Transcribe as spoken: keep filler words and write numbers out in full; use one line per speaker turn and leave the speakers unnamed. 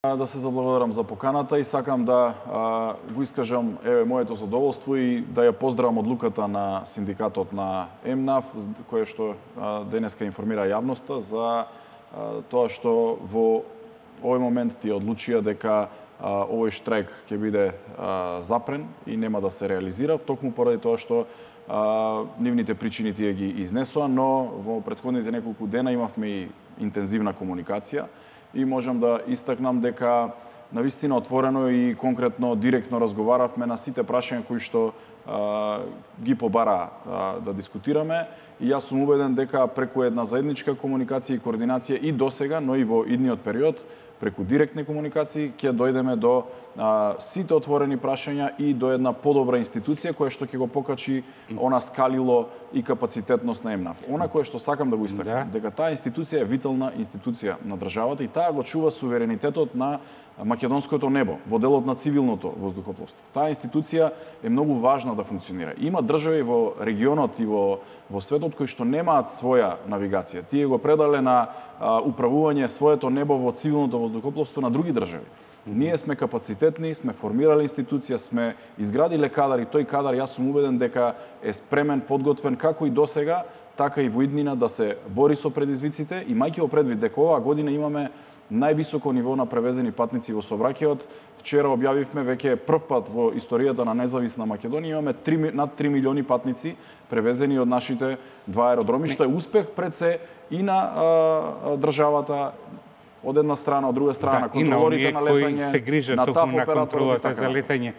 Да се заблагодарам за поканата и сакам да а, го искажам еве моето задоволство и да ја поздравам одлуката на синдикатот на ЕМНАФ, кој што а, денеска информира јавноста за а, тоа што во овој момент тие одлучија дека а, овој штрајк ќе биде а, запрен и нема да се реализира, токму поради тоа што а, нивните причини тие ги изнесоа, но во претходните неколку дена имавме и интензивна комуникација и можам да истакнам дека навистина отворено и конкретно директно разговаравме на сите прашања кои што а, ги побара а, да дискутираме и јас сум убеден дека преку една заедничка комуникација и координација и досега, но и во идниот период, преку директни комуникации ќе дојдеме до а, сите отворени прашања и до една подобра институција која што ќе го покачи она скалило и капацитетност на ЕМНАФ. Она кое што сакам да го истакнам, да. дека таа институција е витална институција на државата и таа го чува суверенитетот на македонското небо во делот на цивилното воздухопловство. Таа институција е многу важна да функционира. Има држави во регионот и во во светот кои што немаат своја навигација. Тие го предале на а, управување своето небо во цивилното воздухопловство на други држави. Ние сме капацитетни, сме формирали институција, сме изградиле кадар и тој кадар јас сум убеден дека е спремен, подготвен како и досега, така и во иднина да се бори со предизвиците, имајќи во предвид дека оваа година имаме највисоко ниво на превезени патници во сообраќајот. Вчера објавивме веќе прв пат во историјата на независна Македонија имаме три, над три милиони патници превезени од нашите два аеродроми, што е успех пред се и на а, државата од една страна, од друга страна,
да,
контролорите на летање,
кои се грижат
на
токму на
контролата
за летање.